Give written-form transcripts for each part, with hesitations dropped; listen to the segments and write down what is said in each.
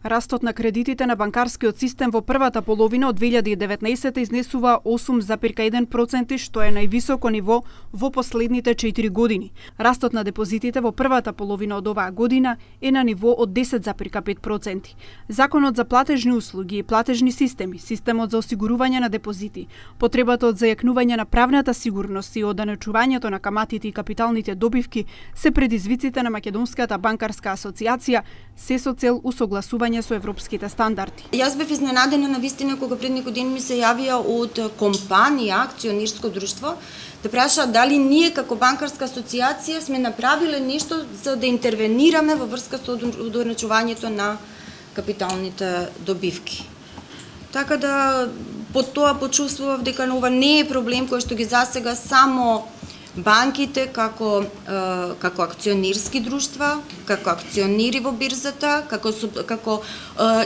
Растот на кредитите на банкарскиот систем во првата половина од 2019 изнесува 8,1%, што е највисоко ниво во последните 4 години. Растот на депозитите во првата половина од оваа година е на ниво од 10,5%. Законот за платежни услуги и платежни системи, системот за осигурување на депозити, потребата од зајакнување на правната сигурност и оданечувањето на каматите и капиталните добивки се предизвиците на Македонската банкарска асоциација, се со цел усогласување со европските стандарди. Јас бев изненадена навистина кога пред некој ден ми се јавија од компанија, акционерско друштво, да прашаат дали ние како банкарска асоциација сме направиле нешто за да интервенираме во врска со одначувањето на капиталните добивки. Така да по тоа почувствував дека ова не е проблем кој што ги засега само банките како акционерски друштва, како акционери во бирзата, како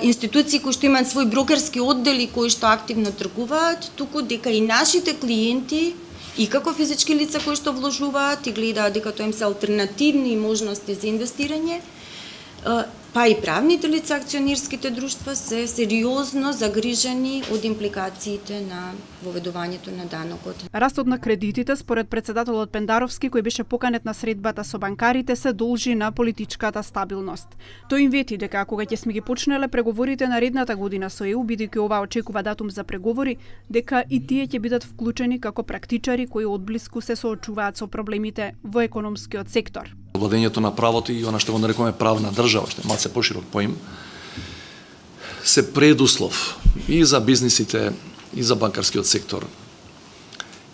институции кои што имаат свој брокерски оддели кои што активно тргуваат, туку дека и нашите клиенти и како физички лица кои што вложуваат и гледаат дека тоа им се алтернативни можности за инвестирање, па и правните лица, акционерските друштва се сериозно загрижени од импликациите на воведувањето на данокот. Растот на кредитите, според председателот Пендаровски, кој беше поканет на средбата со банкарите, се должи на политичката стабилност. Тој им вети дека кога ќе сме ги почнеле преговорите наредната година со ЕУ, бидејќи ова очекува датум за преговори, дека и тие ќе бидат вклучени како практичари кои одблиску се соочуваат со проблемите во економскиот сектор. Владењето на правото и она што го нарекуваме правна држава, што е малце поширок поим, се предуслов и за бизнисите, и за банкарскиот сектор,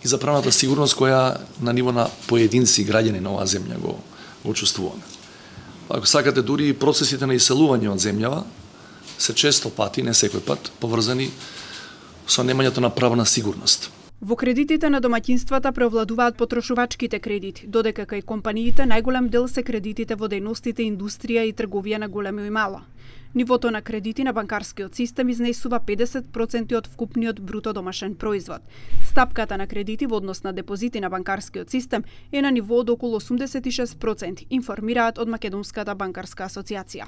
и за правната сигурност која на ниво на поединци граѓани на оваа земја го чувствуваме. Ако сакате, дури и процесите на иселување од земјава се често пати, не секој пат, поврзани со немањето на правна сигурност. Во кредитите на домаќинствата преовладуваат потрошувачките кредити, додека кај компаниите најголем дел се кредитите во дејностите индустрија и трговија на големо и мало. Нивото на кредити на банкарскиот систем изнесува 50% од вкупниот бруто домашен производ. Стапката на кредити во однос на депозити на банкарскиот систем е на ниво од околу 86%, информираат од Македонската банкарска асоциација.